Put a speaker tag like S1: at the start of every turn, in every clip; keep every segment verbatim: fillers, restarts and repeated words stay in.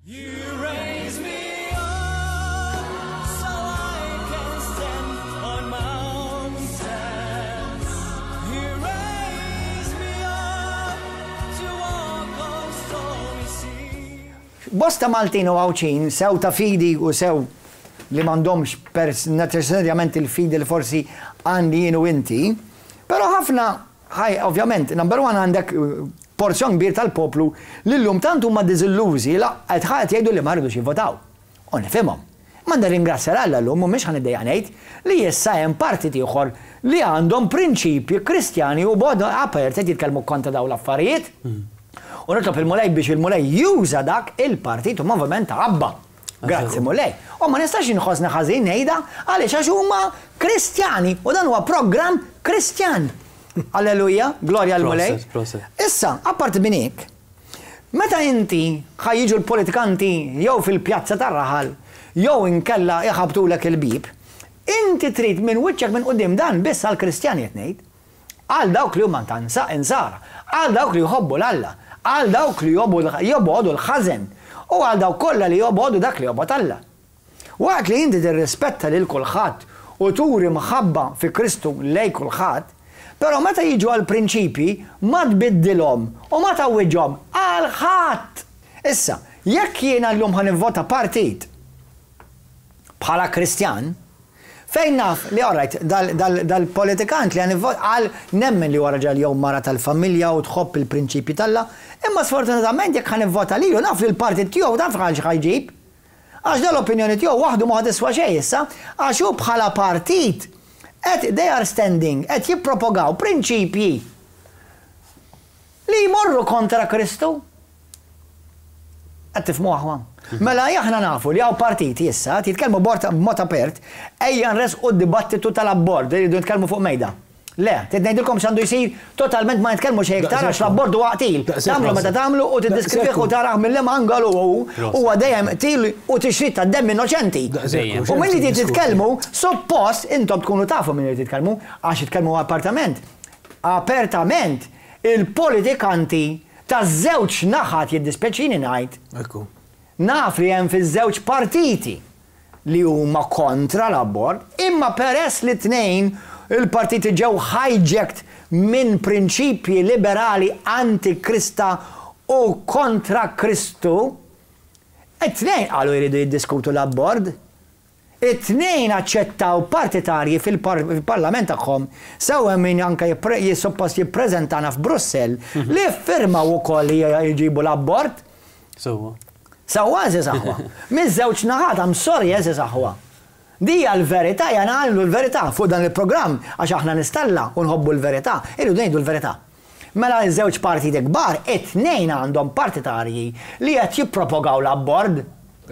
S1: You raise me up so I can stand on mountains. You raise me up to walk on stormy seas.
S2: Bosta Maltin u Għawdxin, sew ta' fidi u sew li m'għandhomx necessarjament il-fidi li forsi għandi jien u inti, però ħafna, ħaj, ovvjament, number one, għandek uh, porzjon kbir tal-poplu li llum tant huma diżillużi la qed ħadd jgħidu li ma rridux jivvotaw. U nifhimhom. Ma nirringrazzja Alla llum, mhumiex ħa niddejjaq ngħid li issa hemm partit ieħor li għandhom prinċipji Kristjani u b'mod apert qed jitkellmu kontra dawn l-affarijiet. U nitlob il-Mulej biex il-Mulej juża dak il-partit u moviment ta' Abba. Grazzi, Mulej. U ma nistax inħossni ħażin ngħidha għaliex għax huma Kristjani u dan huwa programm Kristjan. Alleluja, glorja l-Mulej.
S3: Proset, proset.
S2: Issa, apparti minn hekk, meta inti ħa jiġu l-politikanti jew fil-pjazza tar-raħal, jew inkella iħabtulek il-bib, inti trid minn wiċċek minn quddiem, dan biss għall-Kristjani qed ngħid, għal dawk li huma ta' insara, għal dawk li jħobbu l-Alla, għal dawk li jobogħdu l-ħażen u għal dawk kollha li jobogħdu dak li jobgħod Alla. Waqt li inti tirrispetta lil kulħadd u turi mħabba fi Kristu lej kulħadd, però meta jiġu għal prinċipji ma tbiddilhom u ma tgħawwiġhom għal ħadd. Issa, jekk jiena llum ħa nivvota partit bħala Kristjan, fejn naf li, alright, dal-politikant li għan għal nemmen li huwa raġel jew mara tal-familja u tħobb il-prinċipji t'Alla, imma sfortunatament jekk ħa nivvota lilu naf li l-partit tiegħu taf għal x'ħa jġib. Għax dal-opinjoni tiegħu waħdu ma tiswa xejn issa, għax hu bħala partit qed they are standing, qed jippropogaw prinċipji li jmorru kontra Kristu. Qed tifhmu, aħwa? Mela aħna nafu li hawn partiti issa jitkellmu b'mod apert, ejja nresqu d-dibattitu tal-abort, jridu nitkellmu fuq mejda. Le, trid ngħidilkom x'għandu jsir, totalment ma nitkellmu xejn iktar għax l-abort huwa qtil. Tagħmlu meta tagħmlu u tiddiskrivieh u taraħ mill-liema angalu hu, huwa dejjem qtil u tixrid ta' demm innoċenti. U minn li titkellmu, suppost intom tkunu tafu minn li titkellmu, għax jitkellmu appartament. Apertament, il-politikanti ta' żewġ naħat, jiddispjaċini ngħid.
S4: Ekku.
S2: Naf li hemm fiż-żewġ partiti li huma kontra l-abort, imma peress li tnejn il-partiti ġew hijacked minn prinċipji liberali antikrista u kontra Kristu, it-tnejn qalu jridu jiddiskutu l-abort. It-tnejn aċċettaw partitarji fil-parlament tagħhom, sew hemm min anke jissuppost jippreżentana f'Brussell li firmaw ukoll li jġibu l-abort.
S3: Sewwa.
S2: Sewwa, għeżież aħwa. Miż-żewġ naħat, I'm sorry, għeżież aħwa. Dija l-verità, jana għallu l-verità fuq dan il-programm, għax aħna nies t'Alla u nħobbu l-verità, irridu ngħidu l-verità. Mela ż-żewġ partiti kbar, it-tnejn għandhom partitarji li qed jippropogaw l-abort.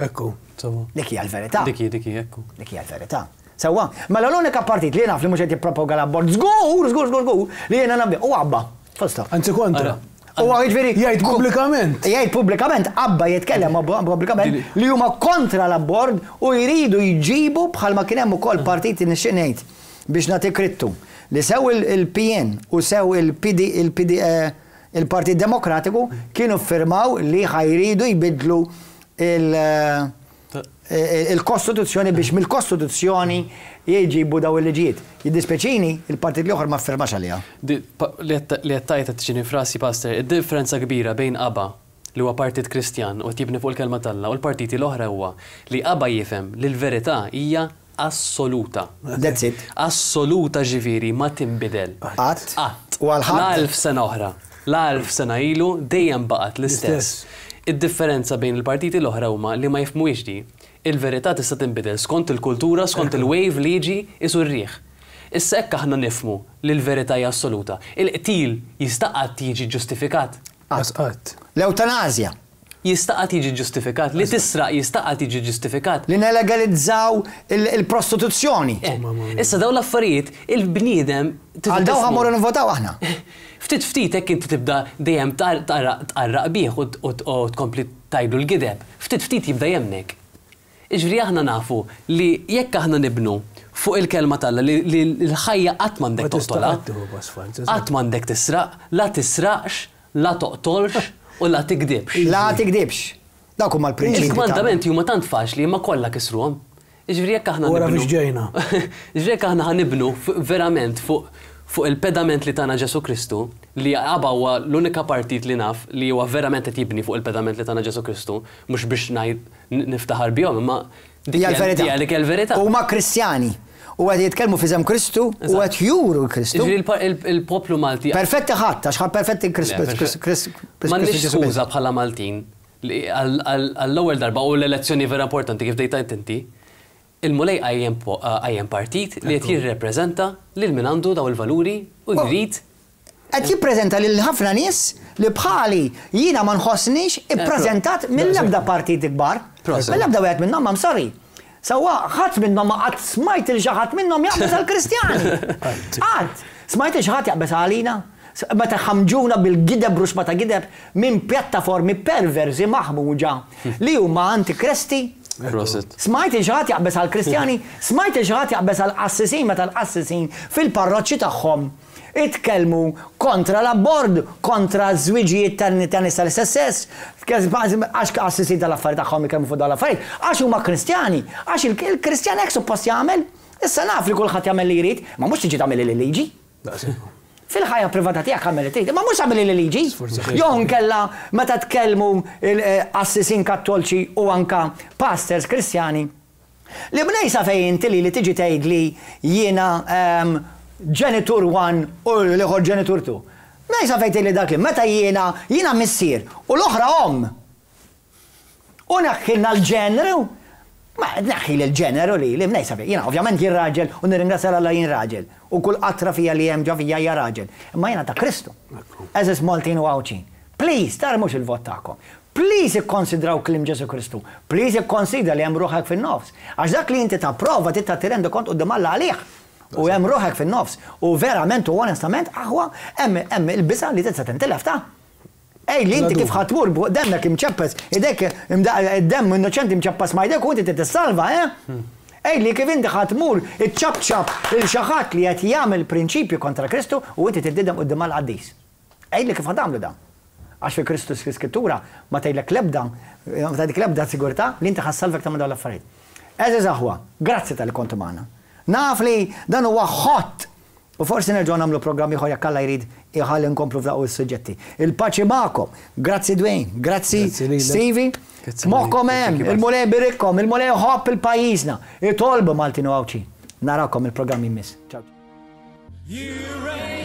S4: Ekku.
S3: Sewwa.
S2: Dik hija l-verità.
S3: Diki, diki, ekku.
S2: Dik hija l-verità. Sewwa, mela l-unika partit li naf li mhux qed jippropoga l-abort, żgur, żgur, żgur, żgur, li jiena naf u Abba. Full stop.
S4: Anzi kontra.
S3: Ara.
S2: U jiġifieri
S4: Jgħid pubblikament.
S2: Jgħid pubblikament, Abba jitkellem pubblikament li huma kontra l-abort u jridu jġibu bħalma kien hemm ukoll partiti, nixtieq ngħid biex nagħti krittu li sew il-P N u sew il-P D il-P D eh, il-Partit Demokratiku kienu firmaw li ħa jridu jbidlu il- eh, il-Kostituzzjoni biex mill-Kostituzzjoni jġibu daw il-liġijiet. Jiddispjaċini, il-partit l-oħor ma firmax għaliha.
S3: Di- pa- Li qed tajt tiġini f'rasi, Pastor, id-differenza kbira bejn ABBA, li huwa partit Kristjan u jibni fuq il-kelma t'Alla, u l-partiti l-oħra huwa li ABBA jifhem li l-verità hija assoluta.
S2: That's it.
S3: Assoluta, ġifieri ma tinbidel.
S2: Qatt.
S3: Qatt.
S2: U għal ħadd.
S3: La elf sena oħra. La elf sena ilu dejjem baqgħet l-istess. Id-differenza bejn il-partiti l-oħra huma li ma jifhmuhiex di. Il-verità tista' tinbidel skont il-kultura, skont il-wave li jiġi isu r-riħ. Issa hekk aħna nifhmu li l-verità hija assoluta. Il-qtil jista' qatt jiġi ġustifikat?
S4: Qatt.
S2: L-eutanazja.
S3: Jista' qatt jiġi ġustifikat? Li tisraq jista' qatt jiġi ġustifikat?
S2: Li nelegalizzaw il-prostituzzjoni.
S3: Eh, Issa dawn l-affarijiet il-bniedem
S2: Għal daw ħa mmorru nvotaw aħna.
S3: Ftit ftit hekk inti tibda dejjem tqarraq bih u tkompli tgħidlu l-gideb. Ftit ftit jibda jemnek. Iġri aħna nafu li jekk aħna nibnu fuq il-kelma t'Alla li l-ħajja qatt m'għandek toqtolha. Qatt m'għandek tisraq, la tisraqx, la toqtolx u la tikdibx.
S2: La tikdibx. Dawk huma l-prinċipji.
S3: Il-kmandamenti huma tant faċli imma kollha kisruhom. Jiġifieri jekk aħna
S4: Wara
S3: nibnu-
S4: biex ġejna.
S3: Jiġifieri jekk aħna ħa nibnu f- verament fuq fuq il-pedament li tana Ġesu Kristu, li ABBA huwa l-unika partit li naf li huwa verament qed jibni fuq il-pedament li tana Ġesu Kristu, mhux biex ngħid n- niftaħar bihom, imma dik
S2: Hija l-verità.
S3: Hija dik il-verità.
S2: Huma Kristjani. U qed jitkellmu f'isem Kristu u qed juru l-Kristu.
S3: Jiġifieri il-pa- il- il-poplu Malti
S2: Perfetti ħadd, għax ħadd perfetti Kristu.
S3: Le, perfett. M'għandniex skuża bħala Maltin li għall- għall- għall-ewwel darba u l-elezzjoni vera importanti kif dejtajt inti, il-Mulej qajjem po- qajjem partit li qed jirrepreżenta lil min għandu daw il-valuri u
S2: Oh.
S3: jrid
S2: Qed jippreżenta lil ħafna nies li bħali jiena ma nħossnix ippreżentat mill-ebda partit kbar.
S3: Proset.
S2: Mill-ebda wieħed minnhom, I'm sorry. Sewwa ħadd minnhom ma qatt smajt il xi ħadd minnhom jaqbeż għall-Kristjani. Qatt. Smajt il xi ħadd jaqbeż għalina. Meta ħamġuna bil-gideb ruxma ta' gideb minn pjattaformi perversi maħmuġa li huma antikresti.
S3: Proset.
S2: Smajt il xi ħadd jaqbeż għal-Kristjani, smajt il xi ħadd jaqbeż għal-qassisin meta l-qassisin fil-parroċċi tagħhom itkellmu kontra l-abort, kontra żwiġijiet ta' ta' nies tal-istess sess, għax qassisin tal-affarijiet tagħhom ikellmu fuq dawn l-affarijiet, għax huma Kristjani, għax il- il-Kristjan hekk suppost jagħmel. Issa naf li kulħadd jagħmel li jrid, ma mhux tiġi tagħmel li liġi. Fil-ħajja privata tiegħek għamel li trid, ma mhux għamel li liġi. Jew nkella meta tkellmu il-qassisin kattolċi u anka pastors Kristjani. Li bnejsa fejn inti li li tiġi tgħid li jiena ehm, ġenitur one u l-ieħor ġenitur two. Mejsa fejn tgħid li dak li meta jiena jiena missier u l-oħra omm. U neħħilna l-ġeneru. Ma neħħi l-ġeneru li li mnejsa fejn. Jiena ovvjament jien raġel u nirringrazzja Alla jien raġel. U kull qatra fija li hemm ġo fija hija raġel. Imma jiena ta' Kristu. Għeżież Maltin u Għawdxin. Please, tarmux il-vot tagħkom. Please ikkonsidraw kliem Ġesu Kristu. Please ikkonsidra li hemm ruħek fin-nofs. Għax dak li inti tapprova trid tirrendi kont quddiem Alla għalih. U hemm ruħek fin-nofs. U verament u onestament aħwa hemm hemm il-biża li tista' tintilef ta' Ej, li inti kif ħa tmur bu demmek imċappas, idek id-demm innoċenti mċappas ma jdek u inti tissalva, eh? Ej, li kif inti ħa tmur iċċabċab il xi ħadd li qed jagħmel prinċipju kontra Kristu u inti tiddidem quddiem għall-qaddis. Ej, li kif ħa tagħmlu dan? Għax fi Kristu skrittura ma tgħidlek lebda, ma tgħidlek lebda sigurtà li inti ħa ssalvek ta' dawn l-affarijiet. Għeżież aħwa, grazzi talli kontu magħna. Naf li dan huwa hot. U forsi nerġgħu nagħmlu programm ieħor jekk Alla jrid iħalli nkomplu f'daqu s-suġġetti. Il-paċi magħkom. Grazzi Dwayne, grazzi
S4: Grazzi lilek.
S2: Stevie.
S3: Grazzi
S2: Moħkom
S3: lilek.
S2: hemm, il-Mulej iberikom, il-Mulej iħobb il-pajjiżna. Itolbu Maltin u Għawdxin. Narakom il-programm jmiss. Ciao.
S1: You raise